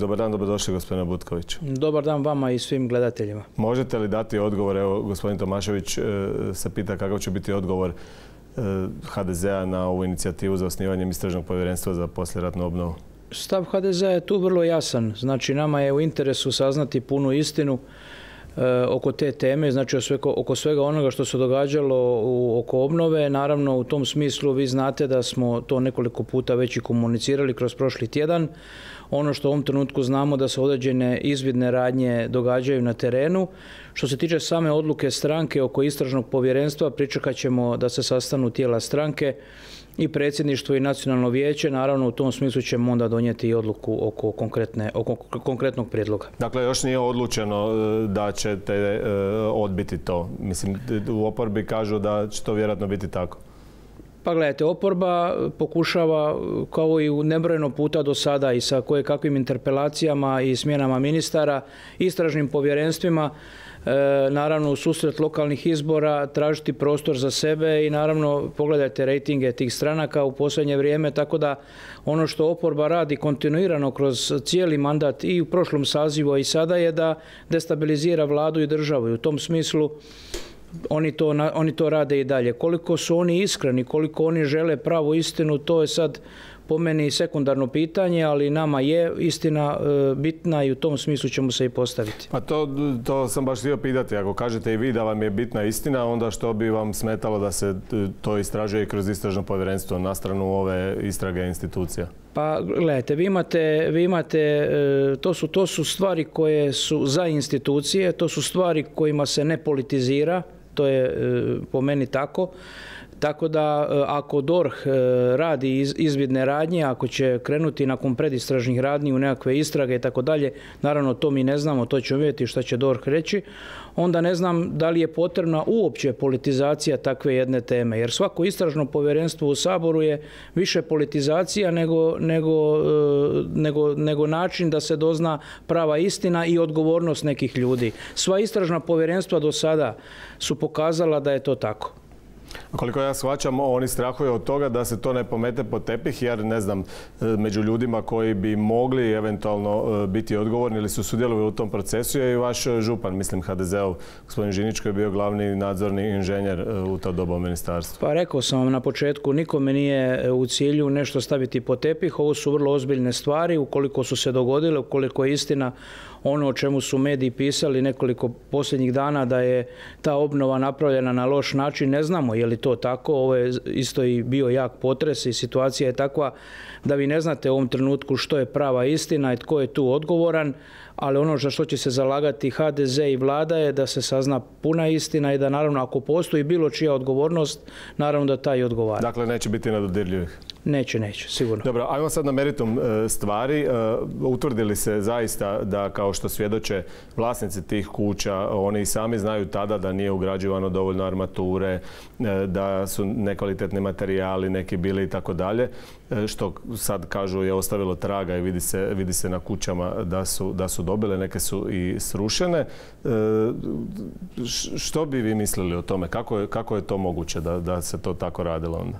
Dobar dan, dobrodošli gospodine Butković. Dobar dan vama i svim gledateljima. Možete li dati odgovor, evo gospodin Tomašević se pita kakav će biti odgovor HDZ-a na ovu inicijativu za osnivanjem istražnog povjerenstva za poslijeratnu obnovu? Stav HDZ-a je tu vrlo jasan. Znači nama je u interesu saznati punu istinu oko te teme, znači oko svega onoga što se događalo oko obnove. Naravno u tom smislu vi znate da smo to nekoliko puta već i komunicirali kroz prošli tjedan. Ono što u ovom trenutku znamo da se određene izvidne radnje događaju na terenu. Što se tiče same odluke stranke oko istražnog povjerenstva, pričekat ćemo da se sastanu tijela stranke i predsjedništvo i nacionalno vijeće. Naravno u tom smislu ćemo onda donijeti i odluku oko konkretnog prijedloga. Dakle, još nije odlučeno da ćete odbiti to. Mislim, u oporbi kažu da će to vjerojatno biti tako. Pa gledajte, oporba pokušava, kao i nebrojeno puta do sada i sa kojekakvim interpelacijama i smjenama ministara, istražnim povjerenstvima, naravno u susret lokalnih izbora tražiti prostor za sebe i naravno pogledajte rejtinge tih stranaka u posljednje vrijeme, tako da ono što oporba radi kontinuirano kroz cijeli mandat i u prošlom sazivu i sada je da destabilizira vladu i državu i u tom smislu oni to rade i dalje. Koliko su oni iskreni, koliko oni žele pravu istinu, to je sad po meni sekundarno pitanje, ali nama je istina bitna i u tom smislu ćemo se i postaviti. Pa to sam baš htio pitati. Ako kažete i vi da vam je bitna istina, onda što bi vam smetalo da se to istražuje kroz istražno povjerenstvo na stranu ove istrage institucija? Pa gledajte, vi imate to su stvari koje su za institucije, to su stvari kojima se ne politizira, to je po meni tako. Tako da ako DORH radi izvidne radnje, ako će krenuti nakon predistražnih radnji u nekakve istrage i tako dalje, naravno to mi ne znamo, to ćemo vidjeti šta će DORH reći, onda ne znam da li je potrebna uopće politizacija takve jedne teme. Jer svako istražno povjerenstvo u Saboru je više politizacija nego način da se dozna prava istina i odgovornost nekih ljudi. Sva istražna povjerenstva do sada su pokazala da je to tako. Koliko ja shvaćam, oni strahuju od toga da se to ne pomete pod tepih, jer ne znam, među ljudima koji bi mogli eventualno biti odgovorni ili su sudjelovali u tom procesu je i vaš župan, mislim HDZ-ov, gospodin Žinić, koji je bio glavni nadzorni inženjer u to doba u ministarstvu. Pa rekao sam vam na početku, nikome nije u cilju nešto staviti pod tepih. Ovo su vrlo ozbiljne stvari, ukoliko su se dogodile, ukoliko je istina ono o čemu su mediji pisali nekoliko posljednjih dana da je ta obnova napravljena na loš način, ne znamo je li to tako. Ovo je isto i bio jak potres i situacija je takva da vi ne znate u ovom trenutku što je prava istina i tko je tu odgovoran, ali ono za što će se zalagati HDZ i vlada je da se sazna puna istina i da naravno ako postoji bilo čija odgovornost, naravno da taj odgovara. Dakle, neće biti nedodirljivih? Neće, sigurno. Dobro, ajmo sad na meritum stvari. Utvrdili se zaista da, kao što svjedoče vlasnici tih kuća, oni i sami znaju tada da nije ugrađivano dovoljno armature, da su nekvalitetni materijali neki bili i tako dalje, što sad kažu je ostavilo traga i vidi se na kućama da su dobile, neke su i srušene. Što bi vi mislili o tome? Kako je to moguće da se to tako radilo onda?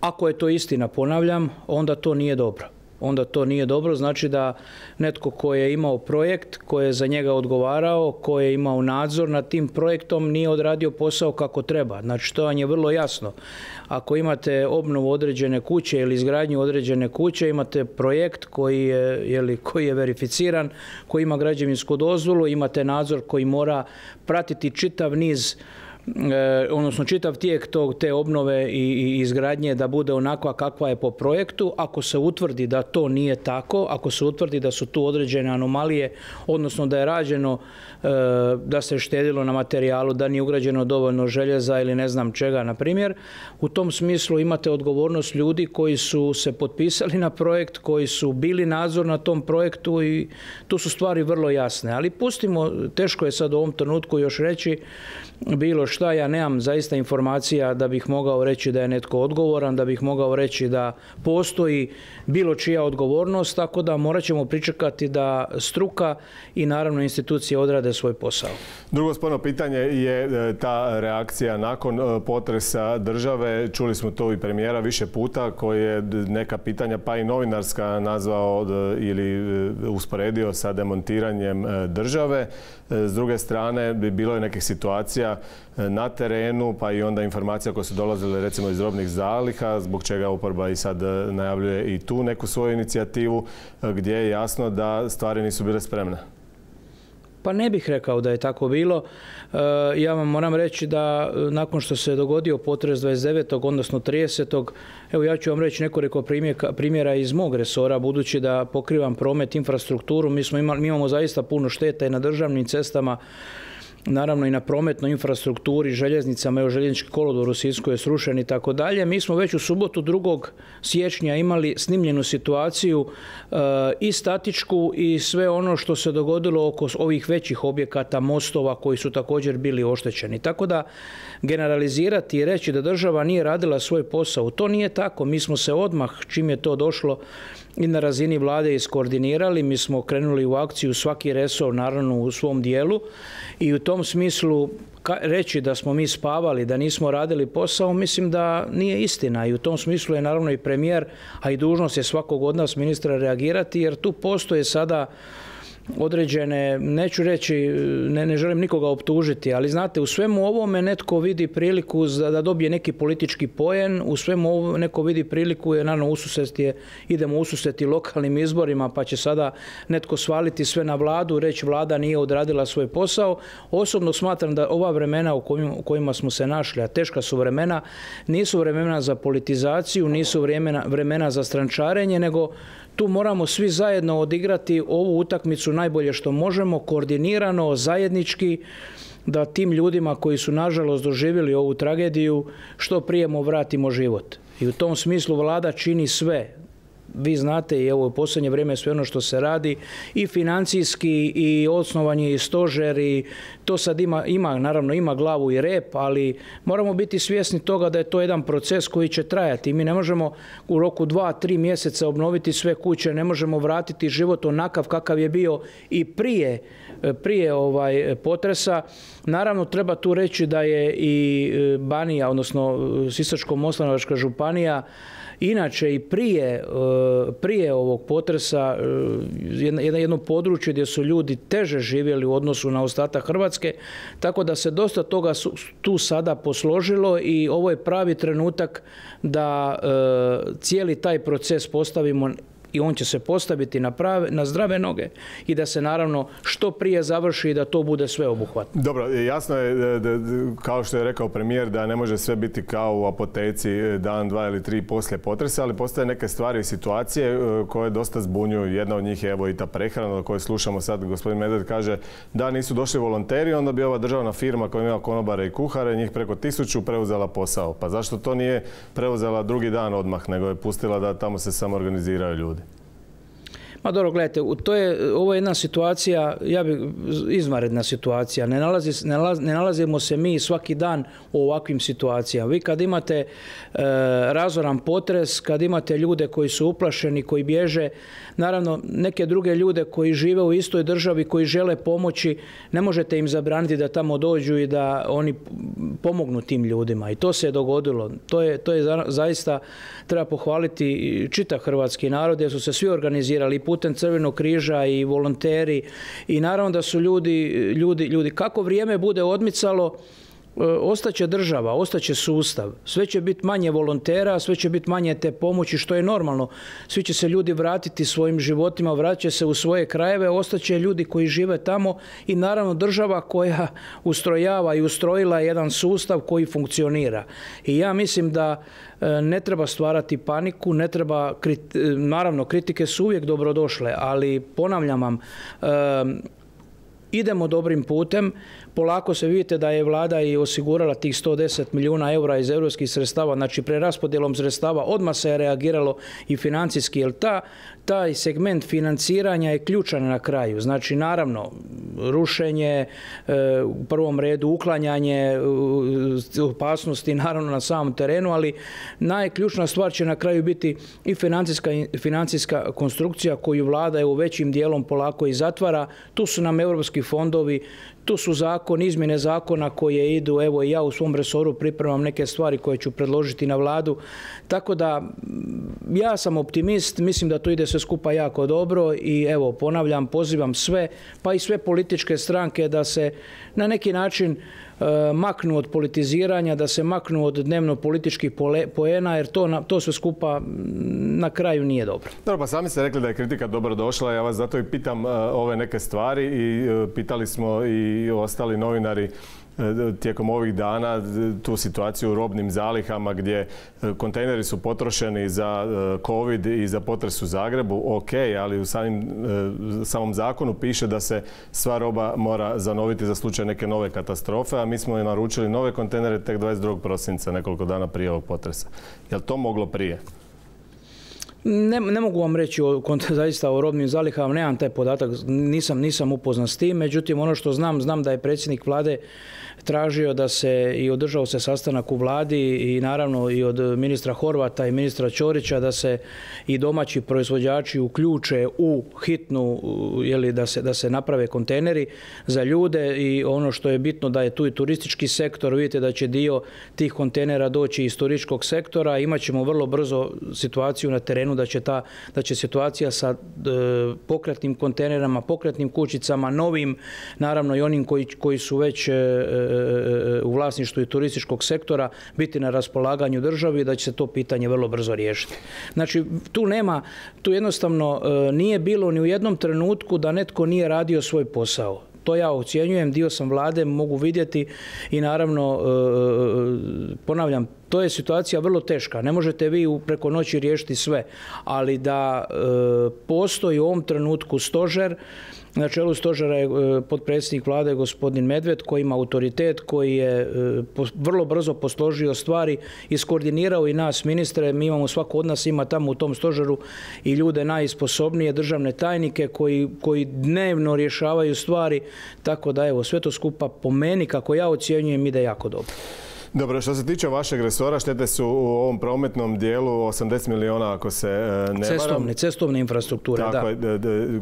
Ako je to istina, ponavljam, onda to nije dobro. Onda to nije dobro, znači da netko ko je imao projekt, ko je za njega odgovarao, ko je imao nadzor nad tim projektom nije odradio posao kako treba. Znači to vam je vrlo jasno. Ako imate obnovu određene kuće ili izgradnju određene kuće, imate projekt koji je verificiran, koji ima građevinsku dozvolu, imate nadzor koji mora pratiti čitav niz, odnosno čitav tijek te obnove i izgradnje da bude onakva kakva je po projektu. Ako se utvrdi da to nije tako, ako se utvrdi da su tu određene anomalije, odnosno da je rađeno, da se štedilo na materijalu, da nije ugrađeno dovoljno željeza ili ne znam čega, na primjer, u tom smislu imate odgovornost ljudi koji su se potpisali na projekt, koji su bili nadzor na tom projektu i tu su stvari vrlo jasne. Ali pustimo, teško je sad u ovom trenutku još reći bilo šta, ja nemam zaista informacija da bih mogao reći da je netko odgovoran, da bih mogao reći da postoji bilo čija odgovornost, tako da morat ćemo pričekati da struka i naravno institucije odrade svoj posao. Drugo sporno pitanje je ta reakcija nakon potresa države. Čuli smo to i premijera više puta koji je neka pitanja pa i novinarska nazvao ili usporedio sa demontiranjem države. S druge strane, bilo je nekih situacija na terenu, pa i onda informacija koje su dolazile recimo iz robnih zaliha, zbog čega oporba i sad najavljuje i tu neku svoju inicijativu, gdje je jasno da stvari nisu bile spremne. Pa ne bih rekao da je tako bilo. Ja vam moram reći da nakon što se dogodio potres 29. odnosno 30. Evo ja ću vam reći nekoliko primjera iz mog resora, budući da pokrivam promet, infrastrukturu. Mi imamo zaista puno šteta i na državnim cestama, naravno i na prometnoj infrastrukturi, željeznicama, evo željeznički kolodvor u Sisku je srušen i tako dalje. Mi smo već u subotu 2. siječnja imali snimljenu situaciju i statičku i sve ono što se dogodilo oko ovih većih objekata, mostova koji su također bili oštećeni. Tako da generalizirati i reći da država nije radila svoj posao, to nije tako. Mi smo se odmah, čim je to došlo, i na razini vlade iskoordinirali. Mi smo krenuli u akciju, svaki resor naravno u svom dijelu, i u tom smislu reći da smo mi spavali, da nismo radili posao, mislim da nije istina, i u tom smislu je naravno i premijer, a i dužnost je svakog od nas ministra reagirati, jer tu postoje sada određene, neću reći, ne želim nikoga optužiti, ali znate, u svemu ovome netko vidi priliku da dobije neki politički poen, u svemu ovome neko vidi priliku, jer naravno idemo ususreti lokalnim izborima, pa će sada netko svaliti sve na vladu, reći vlada nije odradila svoj posao. Osobno smatram da ova vremena u kojima smo se našli, a teška su vremena, nisu vremena za politizaciju, nisu vremena za strančarenje, nego tu moramo svi zajedno odigrati ovu utakmicu najbolje što možemo, koordinirano, zajednički, da tim ljudima koji su nažalost doživjeli ovu tragediju što prije vratimo život. I u tom smislu vlada čini sve. Vi znate i evo u posljednje vrijeme sve ono što se radi i financijski i osnovan je i stožer, i to sad naravno ima glavu i rep, ali moramo biti svjesni toga da je to jedan proces koji će trajati. Mi ne možemo u roku 2-3 mjeseca obnoviti sve kuće, ne možemo vratiti život onakav kakav je bio i prije potresa. Naravno treba tu reći da je i Banija, odnosno Sisačko-moslavačka županija, inače i prije ovog potresa jedno područje gdje su ljudi teže živjeli u odnosu na ostatak Hrvatske, tako da se dosta toga tu sada posložilo i ovo je pravi trenutak da cijeli taj proces postavimo, i on će se postaviti na zdrave noge, i da se naravno što prije završi i da to bude sveobuhvatno. Dobro, jasno je, kao što je rekao premijer, da ne može sve biti kao u apoteci dan, 2 ili 3 poslije potresa, ali postoje neke stvari i situacije koje dosta zbunjuju. Jedna od njih je evo i ta prehrana o kojoj slušamo sad. Gospodin Medved kaže da nisu došli volonteri, onda bi ova državna firma koja ima konobare i kuhare, njih preko 1000, preuzela posao. Pa zašto to nije preuzela drugi dan odmah, nego je pustila da tamo se samo organiziraju ljudi? Ma dobro, gledajte, ovo je jedna situacija, izvanredna situacija. Ne nalazimo se mi svaki dan u ovakvim situacijama. Vi kad imate razoran potres, kad imate ljude koji su uplašeni, koji bježe, naravno neke druge ljude koji žive u istoj državi, koji žele pomoći, ne možete im zabraniti da tamo dođu i da oni pomognu tim ljudima. I to se je dogodilo. To je zaista, treba pohvaliti čitav hrvatski narod, jer su se svi organizirali putem Crvenog križa i volonteri, i naravno da su ljudi, kako vrijeme bude odmicalo, ostaće država, ostaće sustav, sve će biti manje volontera, sve će biti manje te pomoći, što je normalno. Svi će se ljudi vratiti svojim životima, vratit će se u svoje krajeve, ostaće ljudi koji žive tamo, i naravno država koja ustrojava i ustrojila jedan sustav koji funkcionira. I ja mislim da ne treba stvarati paniku, ne treba, naravno kritike su uvijek dobrodošle, ali ponavljam vam, idemo dobrim putem. Polako se vidite da je vlada i osigurala tih 110 milijuna eura iz europskih sredstava, znači preraspodjelom sredstava odmah se je reagiralo i financijski, jer taj segment financiranja je ključan na kraju. Znači naravno rušenje, u prvom redu uklanjanje opasnosti naravno na samom terenu, ali najključna stvar će na kraju biti i financijska konstrukcija koju vlada u većim dijelom polako i zatvara. Tu su nam europski fondovi, tu su izmjene zakona koje idu, evo i ja u svom resoru pripremam neke stvari koje ću predložiti na vladu. Tako da ja sam optimist, mislim da to ide sve skupa jako dobro i evo ponavljam, pozivam sve, pa i sve političke stranke da se na neki način maknu od politiziranja, da se maknu od dnevno političkih poena, jer to sve skupa na kraju nije dobro. Dobro, pa sami ste rekli da je kritika dobro došla, ja vas zato i pitam ove neke stvari i pitali smo i ostali novinari tijekom ovih dana tu situaciju u robnim zalihama gdje kontejneri su potrošeni za COVID i za potres u Zagrebu, ok, ali u samom zakonu piše da se sva roba mora zanoviti za slučaj neke nove katastrofe, a mi smo je naručili nove kontejnere tek 22. prosinca, nekoliko dana prije ovog potresa. Je li to moglo prije? Ne mogu vam reći zaista o robnim zalihama, nemam taj podatak, nisam upoznat s tim, međutim ono što znam da je predsjednik vlade tražio da se i održao se sastanak u vladi i naravno i od ministra Horvata i ministra Ćorića da se i domaći proizvođači uključe u hitnu, da se naprave kontejneri za ljude i ono što je bitno da je tu i turistički sektor, vidite da će dio tih kontejnera doći iz turističkog sektora, imat ćemo vrlo brzo situaciju na terenu da će situacija sa pokretnim kontejnerama, pokretnim kućicama, novim, naravno i onim koji su već u vlasništvu i turističkog sektora biti na raspolaganju državi, da će se to pitanje vrlo brzo riješiti. Znači, tu jednostavno nije bilo ni u jednom trenutku da netko nije radio svoj posao. To ja ocjenjujem, dio sam vlade, mogu vidjeti i naravno, ponavljam, to je situacija vrlo teška. Ne možete vi preko noći riješiti sve, ali da postoji u ovom trenutku stožer. Na čelu stožera je potpredsjednik vlade gospodin Medved koji ima autoritet, koji je vrlo brzo posložio stvari, iskoordinirao i nas ministre. Mi imamo, svako od nas ima tamo u tom stožeru i ljude najsposobnije, državne tajnike koji dnevno rješavaju stvari. Tako da evo, sve to skupa po meni, kako ja ocjenjujem, ide jako dobro. Dobro, što se tiče vašeg resora, štete su u ovom prometnom dijelu 80 milijuna, ako se ne varam. Cestovne infrastrukture, da. Tako je.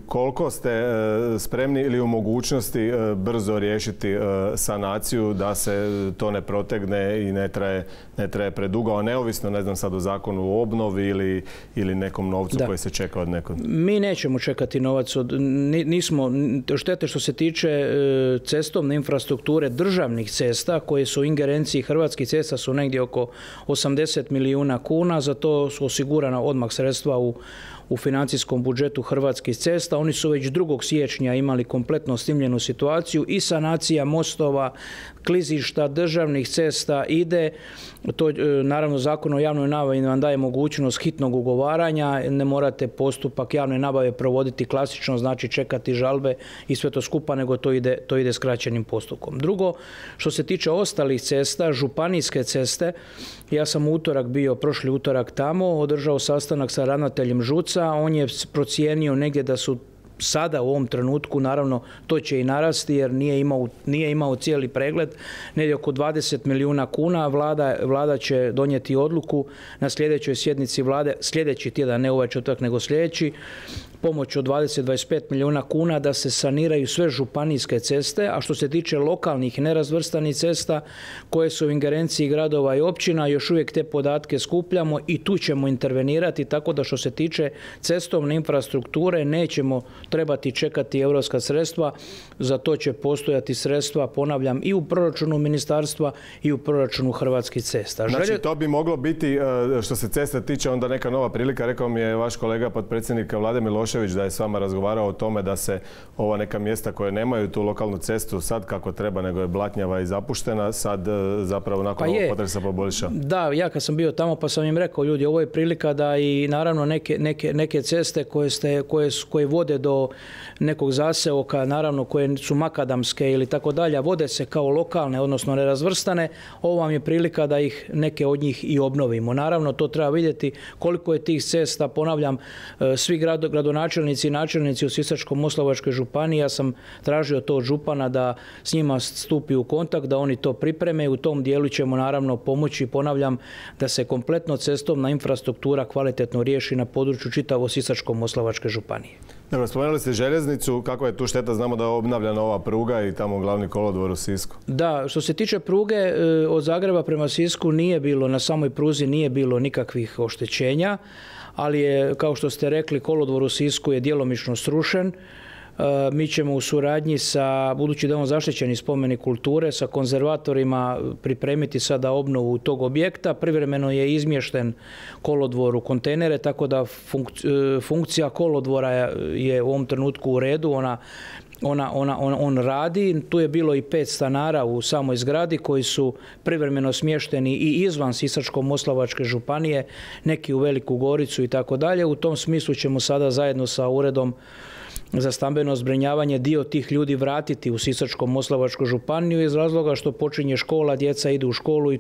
Koliko ste spremni ili u mogućnosti brzo riješiti sanaciju da se to ne protegne i ne traje predugo, a neovisno, ne znam sad o zakonu o obnovi ili nekom novcu koji se čeka od nekog? Mi nećemo čekati novac štete što se tiče cestovne infrastrukture državnih cesta koje su u ingerenciji Hrvatskih cesta su negdje oko 80 milijuna kuna, za to su osigurana odmah sredstva u financijskom budžetu Hrvatskih cesta. Oni su već 2. siječnja imali kompletno snimljenu situaciju i sanacija mostova, klizišta, državnih cesta ide. To, naravno, Zakon o javnoj nabavi vam daje mogućnost hitnog ugovaranja, ne morate postupak javne nabave provoditi klasično, znači čekati žalbe i sve to skupa, nego to ide skraćenim postupkom. Drugo, što se tiče ostalih cesta, županijske ceste, ja sam prošli utorak tamo, održao sastanak sa ravnateljem ŽUC-a, on je procijenio negdje da su sada u ovom trenutku, naravno to će i narasti jer nije imao cijeli pregled, negdje oko 20 milijuna kuna. Vlada će donijeti odluku na sljedećoj sjednici vlade, sljedeći tjedan, ne ovaj četvrtak nego sljedeći, pomoć od 20-25 milijuna kuna da se saniraju sve županijske ceste, a što se tiče lokalnih nerazvrstanih cesta koje su u ingerenciji gradova i općina, još uvijek te podatke skupljamo i tu ćemo intervenirati, tako da što se tiče cestovne infrastrukture nećemo trebati čekati europska sredstva, za to će postojati sredstva, ponavljam, i u proračunu ministarstva i u proračunu Hrvatskih cesta. Znači, to bi moglo biti, što se cesta tiče, onda neka nova prilika. Rekao mi je vaš kolega potpredsjednik vlade Milošević da je s vama razgovarao o tome da se ova neka mjesta koje nemaju tu lokalnu cestu sad kako treba, nego je blatnjava i zapuštena, sad zapravo nakon ovog potresa poboljša. Da, ja kad sam bio tamo pa sam im rekao, ljudi, ovo je prilika da i naravno neke ceste koje vode do nekog zaseoka, naravno koje su makadamske ili tako dalje, vode se kao lokalne, odnosno nerazvrstane, ovo vam je prilika da neke od njih i obnovimo. Naravno, to treba vidjeti koliko je tih cesta, ponavljam, svi gradonačelnici gradonačelnici i načelnici u Sisačko-moslavačkoj županiji, ja sam tražio to od župana da s njima stupi u kontakt, da oni to pripreme i u tom dijelu ćemo naravno pomoći, ponavljam, da se kompletno cestovna infrastruktura kvalitetno riješi na području čitavo Sisačko-moslavačke županije. Dobro, spomenuli ste željeznicu, kakva je tu šteta? Znamo da je obnavljana ova pruga i tamo glavni kolodvor u Sisku. Da, što se tiče pruge od Zagreba prema Sisku nije bilo, na samoj pruzi nije bilo nikakvih oštećenja, ali je, kao što ste rekli, kolodvor u Sisku je djelomično srušen. Mi ćemo u suradnji sa, budući da je on zaštićeni spomenik kulture, sa konzervatorima pripremiti sada obnovu tog objekta. Privremeno je izmješten kolodvor u kontejnere, tako da funkcija kolodvora je u ovom trenutku u redu, on radi. Tu je bilo i 5 stanara u samoj zgradi koji su privremeno smješteni i izvan Sisačko-moslavačke županije, neki u Veliku Goricu i tako dalje. U tom smislu ćemo sada zajedno sa Uredom za stambeno zbrinjavanje dio tih ljudi vratiti u Sisačko-moslavačku županiju iz razloga što počinje škola, djeca idu u školu i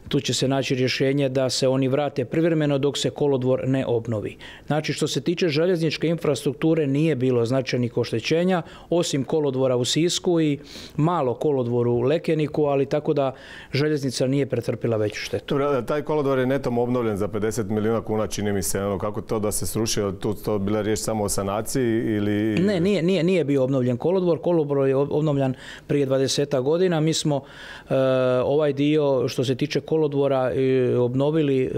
tu će se naći rješenje da se oni vrate privremeno dok se kolodvor ne obnovi. Znači, što se tiče željezničke infrastrukture nije bilo značajnih oštećenja, osim kolodvora u Sisku i malo kolodvoru u Lekeniku, ali tako da željeznica nije pretrpila veću štetu. Dobro, taj kolodvor je netom obnovljen za 50 milijuna kuna, čini mi se. Kako to da se srušio? Tu to bila riječ samo o sanaciji ili... Ne, nije bio obnovljen kolodvor. Kolodvor je obnovljen prije 20 godina. Mi smo ovaj dio, što se tiče kolodvora, obnovili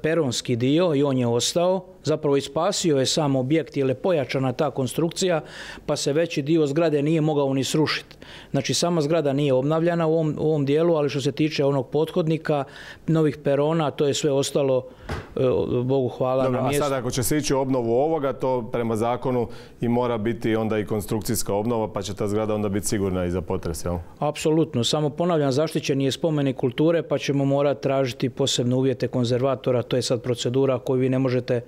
peronski dio i on je ostao. Zapravo ispasio je sam objekt jer je pojačana ta konstrukcija, pa se veći dio zgrade nije mogao ni srušiti. Znači, sama zgrada nije obnavljana u ovom dijelu, ali što se tiče onog pothodnika, novih perona, to je sve ostalo, Bogu hvala, na mjestu. A sad ako će se ići u obnovu ovoga, to prema zakonu i mora biti onda i konstrukcijska obnova, pa će ta zgrada onda biti sigurna i za potres, jel? Apsolutno. Samo ponavljam, zaštićen je spomenik kulture, pa ćemo morati tražiti posebne uvjete konzervatora. To je sad procedura koju vi ne možete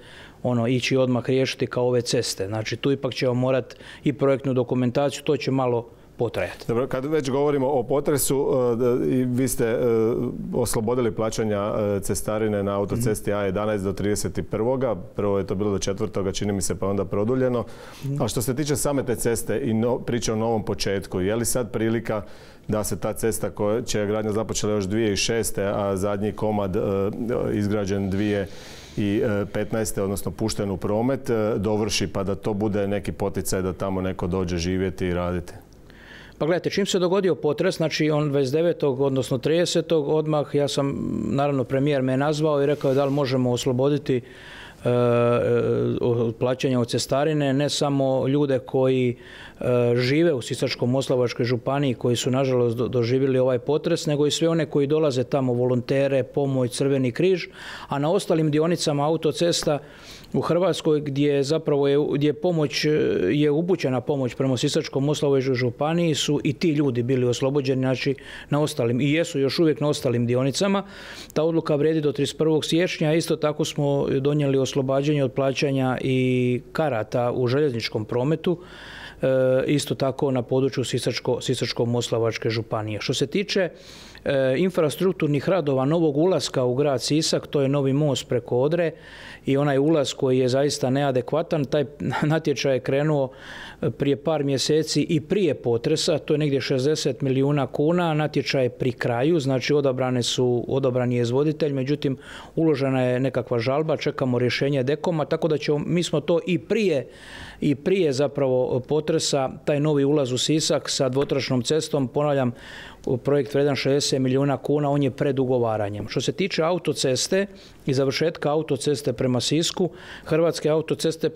ići odmah riješiti kao ove ceste. Znači, tu ipak ćemo morati i projektnu dokumentaciju, to će malo potrajati. Dobro, kad već govorimo o potresu, vi ste oslobodili plaćanja cestarine na autocesti A11 do 31. Prvo je to bilo do 4. čini mi se, pa onda produljeno. A što se tiče same te ceste i priče o novom početku, je li sad prilika da se ta cesta čija je gradnja započela još 2006. a zadnji komad izgrađen 2015. odnosno pušten u promet, dovrši pa da to bude neki poticaj da tamo neko dođe živjeti i raditi? Pa gledajte, čim se dogodio potres, znači on 29. odnosno 30. odmah, ja sam, naravno premijer me nazvao i rekao da li možemo osloboditi plaćanja od cestarine, ne samo ljude koji žive u Sisačko-moslavačkoj županiji, koji su nažalost doživjeli ovaj potres, nego i sve one koji dolaze tamo, volontere, pomoć, Crveni križ, a na ostalim dionicama autocesta u Hrvatskoj gdje pomoć je upućena pomoć prema Sisačko-moslavačkoj županiji su i ti ljudi bili oslobođeni, znači na ostalim, i jesu još uvijek na ostalim dionicama. Ta odluka vrijedi do 31. siječnja, isto tako smo donijeli oslobađanje od plaćanja i karata u željezničkom prometu, isto tako na području Sisačko-moslavačke županije. Što se tiče infrastrukturnih radova novog ulaska u grad Sisak, to je novi most preko Odre i onaj ulaz koji je zaista neadekvatan. Taj natječaj je krenuo prije par mjeseci i prije potresa, to je negdje 60 milijuna kuna, natječaj je pri kraju, znači odabran je izvoditelj, međutim uložena je nekakva žalba, čekamo rješenje Dekoma, tako da mi smo to i prije zapravo potresa, taj novi ulaz u Sisak sa dvotračnom cestom, ponavljam, projekt vredan 60 milijuna kuna, on je pred ugovaranjem. Što se tiče autoceste i završetka autoceste prema Sisku, Hrvatske autoceste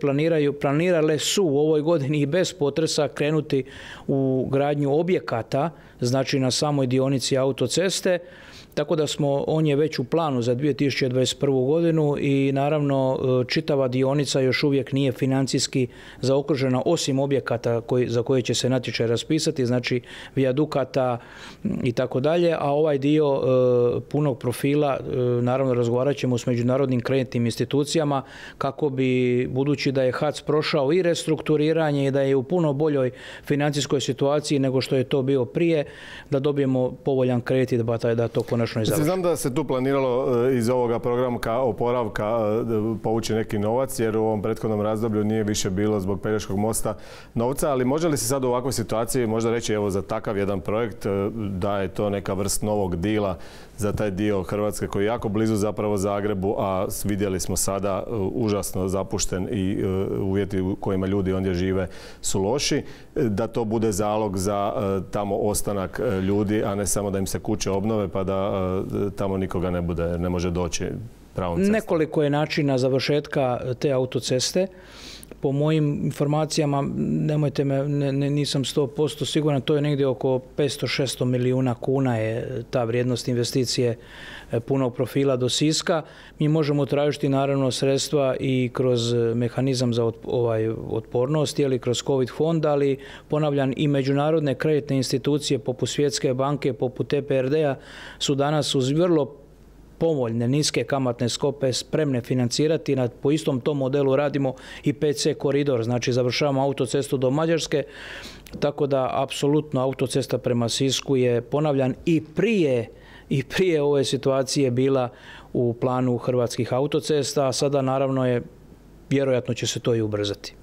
planirale su u ovoj godini i bez potresa krenuti u gradnju objekata, znači na samoj dionici autoceste, tako da on je već u planu za 2021. godinu i naravno čitava dionica još uvijek nije financijski zaokružena osim objekata za koje će se natječaj raspisati, znači vijadukata i tako dalje, a ovaj dio punog profila naravno razgovarat ćemo s međunarodnim kreditnim institucijama kako bi, budući da je HAC prošao i restrukturiranje i da je u puno boljoj financijskoj situaciji nego što je to bio prije, da dobijemo povoljan kredit i da to konačno i završi. Znam da se tu planiralo iz ovoga programa oporavka povući neki novac, jer u ovom prethodnom razdoblju nije više bilo zbog Pelješkog mosta novca, ali može li se sad u ovakvoj situaciji možda reći evo za takav jedan projekt da je to neka vrst novog dila za taj dio Hrvatske koji je jako blizu zapravo Zagrebu, a vidjeli smo sada užasno zapušten i uvjeti u kojima ljudi ondje žive su loši, da to bude zalog za tamo ostanak ljudi, a ne samo da im se kuće obnove pa da tamo nikoga ne bude, ne može doći pravom cestom. Nekoliko je načina završetka te autoceste. Po mojim informacijama, nemojte me, nisam 100% siguran, to je negdje oko 500-600 milijuna kuna je ta vrijednost investicije punog profila do Siska. Mi možemo tražiti naravno sredstva i kroz mehanizam za otpornost ili kroz COVID fond, ali ponavljam i međunarodne kreditne institucije poput Svjetske banke, poput EBRD-a su danas uz vrlo povoljne, niske kamatne stope spremne financirati. Po istom tom modelu radimo i PC koridor, znači završavamo autocestu do Mađarske, tako da apsolutno autocesta prema Sisku je, ponavljam, i prije ove situacije bila u planu Hrvatskih autocesta, a sada naravno vjerojatno će se to i ubrzati.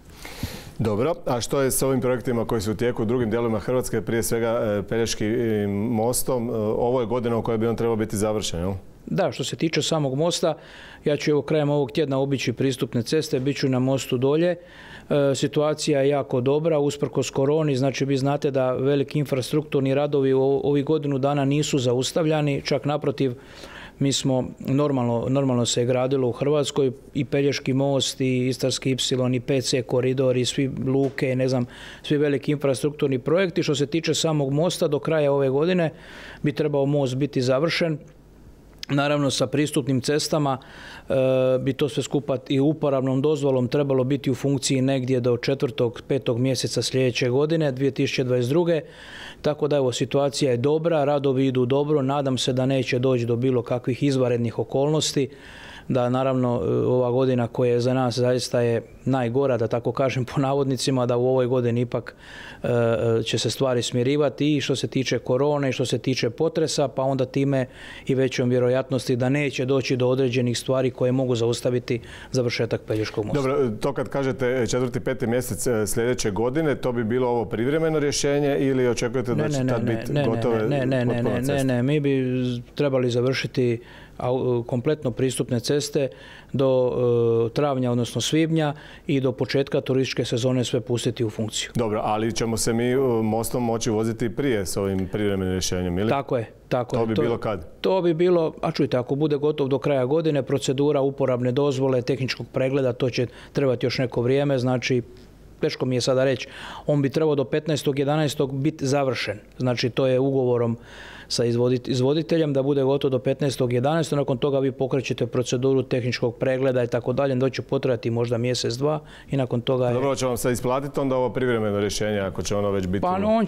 Dobro, a što je s ovim projektima koji su u tijeku u drugim dijelovima Hrvatske, prije svega Pelješkim mostom? Ovo je godina u kojoj bi on trebao biti završen, jel? Da, što se tiče samog mosta, ja ću krajem ovog tjedna obići pristupne ceste, bit ću na mostu dolje. Situacija je jako dobra, usprkos koroni, znači vi znate da veliki infrastrukturni radovi u ovih godinu dana nisu zaustavljani, čak naprotiv, mi smo normalno se je gradilo u Hrvatskoj i Pelješki most i Istarski ipsilon i PC koridor i svi luke, svi veliki infrastrukturni projekti. Što se tiče samog mosta, do kraja ove godine bi trebao most biti završen. Naravno, sa pristupnim cestama bi to sve skupa i uporabnom dozvolom trebalo biti u funkciji negdje do 4. 5. mjeseca sljedeće godine, 2022. Tako da evo, situacija je dobra, radovi idu dobro, nadam se da neće doći do bilo kakvih izvanrednih okolnosti, da naravno ova godina koja je za nas zaista je najgora, da tako kažem po navodnicima, da u ovoj godini ipak će se stvari smirivati i što se tiče korone i što se tiče potresa, pa onda time i većom vjerojatnosti da neće doći do određenih stvari koje mogu zaustaviti završetak Pelješkog mosta. Dobro, to kad kažete 4. 5. mjesec sljedeće godine, to bi bilo ovo privremeno rješenje ili očekujete da će tad biti gotove potpuno ceste? Ne, mi bi trebali završiti kompletno pristupne ceste do travnja, odnosno svibnja i do početka turističke sezone sve pustiti u funkciju. Dobro, ali ćemo se mi mostom moći voziti prije s ovim privremenim rješenjem, ili? Tako je. To bi bilo kad? To bi bilo, a čujte, ako bude gotov do kraja godine, procedura uporabne dozvole, tehničkog pregleda, to će trebati još neko vrijeme, znači teško mi je sada reći, on bi trebao do 15.11. biti završen. Znači to je ugovorom sa izvoditeljem da bude gotov do 15.11. Nakon toga vi pokrećete proceduru tehničkog pregleda i tako dalje, da će potrajati možda mjesec, dva i nakon toga... Dobro, će vam se isplatiti onda ovo privremeno rješenje ako će ono već biti on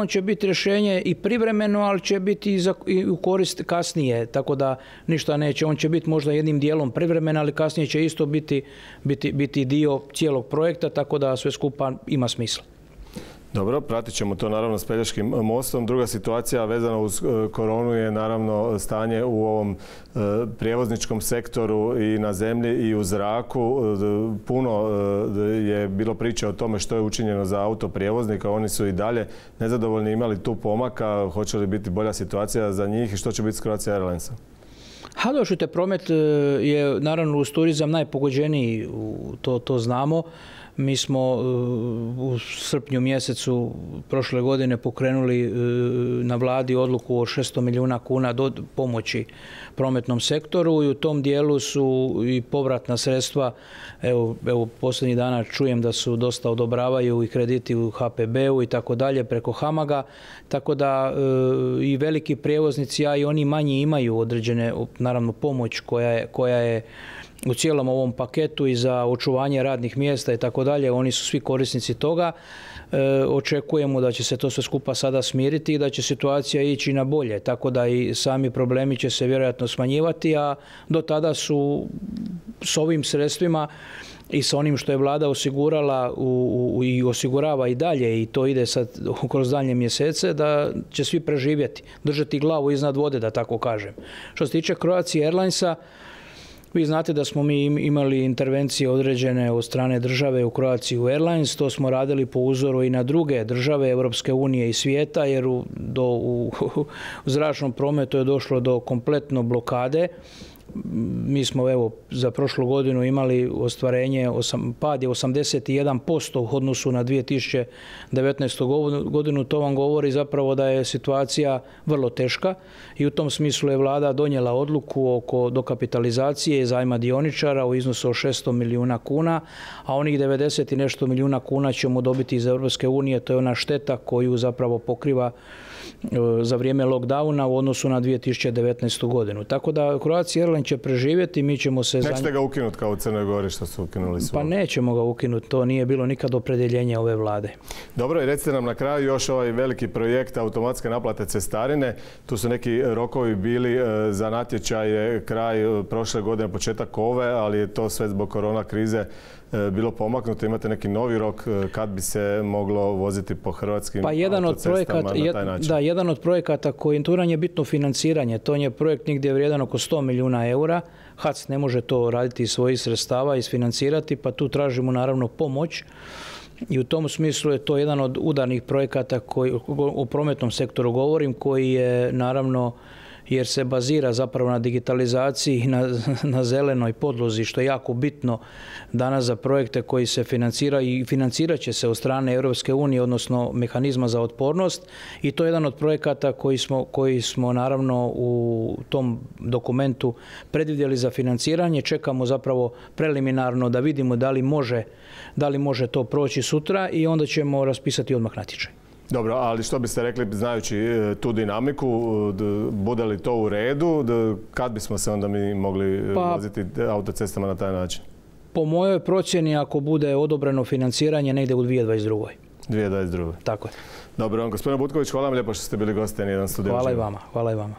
će biti rješenje i privremeno, ali će biti i u korist kasnije, tako da ništa neće. On će biti možda jednim dijelom privremeno, ali kasnije će isto biti dio cijelog projekta, tako da sve skupa ima smisla. Dobro, pratit ćemo to naravno s Pelješkim mostom. Druga situacija vezana uz koronu je naravno stanje u ovom prijevozničkom sektoru i na zemlji i u zraku. Puno je bilo priče o tome što je učinjeno za autoprijevoznika. Oni su i dalje nezadovoljni, imali tu pomaka. Hoće li biti bolja situacija za njih i što će biti s Croatia Airlinesom? Čujte, promet je naravno uz turizam najpogođeniji, to znamo. Mi smo u srpnju mjesecu prošle godine pokrenuli na vladi odluku o 600 milijuna kuna pomoći prometnom sektoru i u tom dijelu su i povratna sredstva. Evo posljednjih dana čujem da su dosta odobravaju i krediti u HPB-u i tako dalje preko HAMAG-a, tako da i veliki prijevoznici, a i oni manji imaju određene naravno pomoć koja je u cijelom ovom paketu i za očuvanje radnih mjesta i tako dalje. Oni su svi korisnici toga. Očekujemo da će se to sve skupa sada smiriti i da će situacija ići na bolje, tako da i sami problemi će se vjerojatno smanjivati, a do tada su s ovim sredstvima i sa onim što je vlada osigurala i osigurava i dalje, i to ide sad kroz daljnje mjesece, da će svi preživjeti, držati glavu iznad vode, da tako kažem. Što se tiče Croatia Airlinesa, vi znate da smo mi imali intervencije određene od strane države u Croatia Airlines, to smo radili po uzoru i na druge države Europske unije i svijeta, jer u zračnom prometu je došlo do kompletno blokade. Mi smo evo za prošlu godinu imali ostvarenje, pad je 81% u odnosu na 2019. godinu. To vam govori zapravo da je situacija vrlo teška i u tom smislu je vlada donijela odluku oko dokapitalizacije i zajma dioničara u iznosu od 600 milijuna kuna, a onih 90 i nešto milijuna kuna ćemo dobiti iz Europske unije. To je ona šteta koju zapravo pokriva za vrijeme lockdowna u odnosu na 2019. godinu. Tako da Croatia Airlines će preživjeti, mi ćemo se... Nećete ga ukinuti kao u Crnoj Gori što su ukinuli svo? Pa nećemo ga ukinuti, to nije bilo nikad opredjeljenje ove vlade. Dobro, i recite nam na kraju još ovaj veliki projekt automatske naplate cestarine. Tu su neki rokovi bili za natječaje kraj prošle godine, početak ove, ali je to sve zbog korona krize bilo pomaknuto. Imate neki novi rok kad bi se moglo voziti po hrvatskim autocestama na taj način? Da, jedan od projekata koji je bitno financiranje. To je projekt negdje vrijedan oko 100 milijuna eura. HAC ne može to raditi iz svojih sredstava, isfinancirati, pa tu tražimo naravno pomoć. I u tom smislu je to jedan od udarnih projekata koji, u prometnom sektoru govorim, koji je naravno, jer se bazira zapravo na digitalizaciji i na zelenoj podlozi, što je jako bitno danas za projekte koji se financiraju i financirat će se od strane Europske unije, odnosno mehanizma za otpornost, i to je jedan od projekata koji smo naravno u tom dokumentu predvidjeli za financiranje. Čekamo zapravo preliminarno da vidimo da li može to proći sutra i onda ćemo raspisati odmah natječaj. Dobro, ali što biste rekli, znajući tu dinamiku, bude li to u redu, kad bismo se onda mi mogli voziti autocestama na taj način? Po mojoj procjeni, ako bude odobreno financiranje, negdje u 2022. 2022. Tako je. Dobro, gospodine Butković, hvala vam lijepo što ste bili gosti N1 Studio. Hvala i vama.